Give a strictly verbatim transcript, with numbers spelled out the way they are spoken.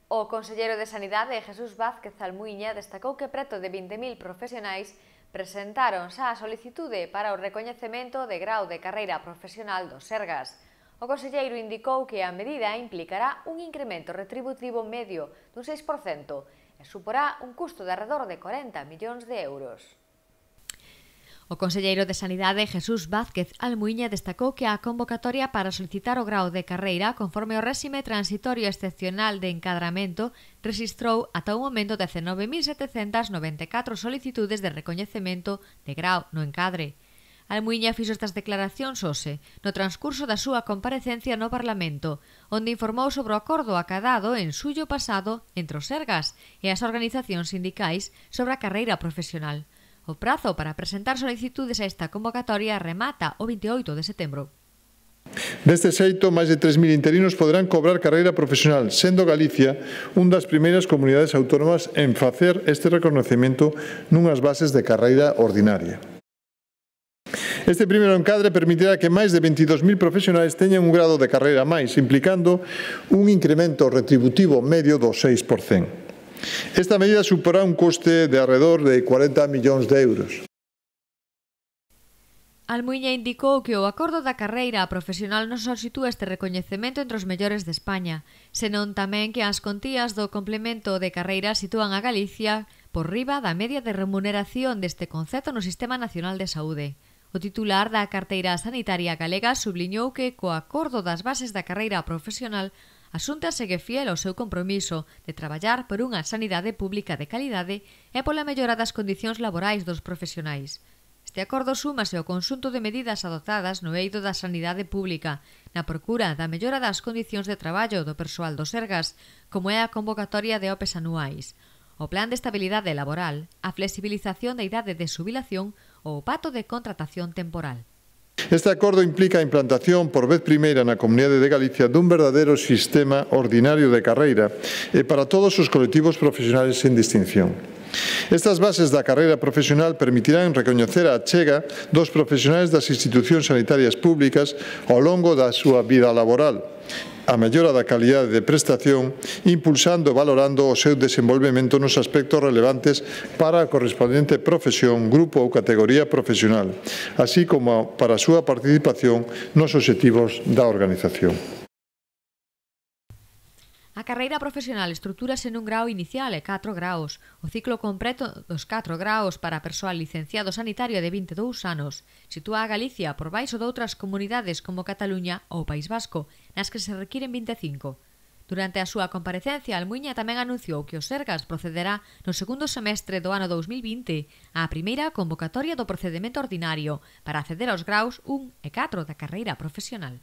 O conselleiro de Sanidade, Jesús Vázquez Almuíña, destacou que preto de vinte mil profesionais presentaron xa a solicitude para o recoñecemento de grau de carreira profesional do Sergas. O conselleiro indicou que a medida implicará un incremento retributivo medio dun seis por cento e suporá un custo de arredor de corenta millóns de euros. O conselleiro de Sanidade, Jesús Vázquez Almuíña, destacou que a convocatoria para solicitar o grau de carreira conforme ao réxime transitorio excepcional de encadramento rexistrou ata o momento dezenove mil setecentas noventa e catro solicitudes de recoñecemento de grau no encadre. Almuíña fixo estas declaracións hoxe, no transcurso da súa comparecencia no Parlamento, onde informou sobre o acordo acadado en xullo pasado entre os Sergas e as organizacións sindicais sobre a carreira profesional. O prazo para presentar solicitudes a esta convocatoria remata o vinte e oito de setembro. Deste xeito, máis de tres mil interinos poderán cobrar carreira profesional, sendo Galicia un das primeiras comunidades autónomas en facer este reconocemento nunhas bases de carreira ordinaria. Este primeiro encadre permitirá que máis de veintidós mil profesionais teñan un grado de carreira máis, implicando un incremento retributivo medio do seis por cento. Esta medida suporá un coste de arredor de cuarenta millóns de euros. Almuíña indicou que o acordo da carreira profesional non só sitúa este recoñecemento entre os mellores de España, senón tamén que as contías do complemento de carreira sitúan a Galicia por riba da media de remuneración deste concepto no Sistema Nacional de Saúde. O titular da carteira sanitaria galega subliñou que co acordo das bases da carreira profesional a Xunta segue fiel ao seu compromiso de traballar por unha sanidade pública de calidade e pola mellora das condicións laborais dos profesionais. Este acordo súmase ao conxunto de medidas adoptadas no eido da sanidade pública na procura da mellora das condicións de traballo do persoal do Sergas, como é a convocatoria de opes anuais, o plan de estabilidade laboral, a flexibilización da idade de xubilación ou o pacto de contratación temporal. Este acordo implica a implantación por vez primeira na Comunidade de Galicia dun verdadeiro sistema ordinario de carreira e para todos os colectivos profesionais sen distinción. Estas bases da carreira profesional permitirán recoñecer a achega dos profesionais das institucións sanitarias públicas ao longo da súa vida laboral, a mellora da calidade de prestación, impulsando e valorando o seu desenvolvemento nos aspectos relevantes para a correspondente profesión, grupo ou categoría profesional, así como para a súa participación nos obxectivos da organización. A carreira profesional estrutúrase nun grau inicial e catro graos. O ciclo completo dos catro graos para persoal licenciado sanitario de vinte e dous anos sitúa a Galicia por baixo de outras comunidades como Cataluña ou País Vasco, nas que se requiren vinte e cinco. Durante a súa comparecencia, Almuíña tamén anunciou que o Sergas procederá no segundo semestre do ano dous mil vinte á primeira convocatoria do procedimento ordinario para acceder aos graus un e catro da carreira profesional.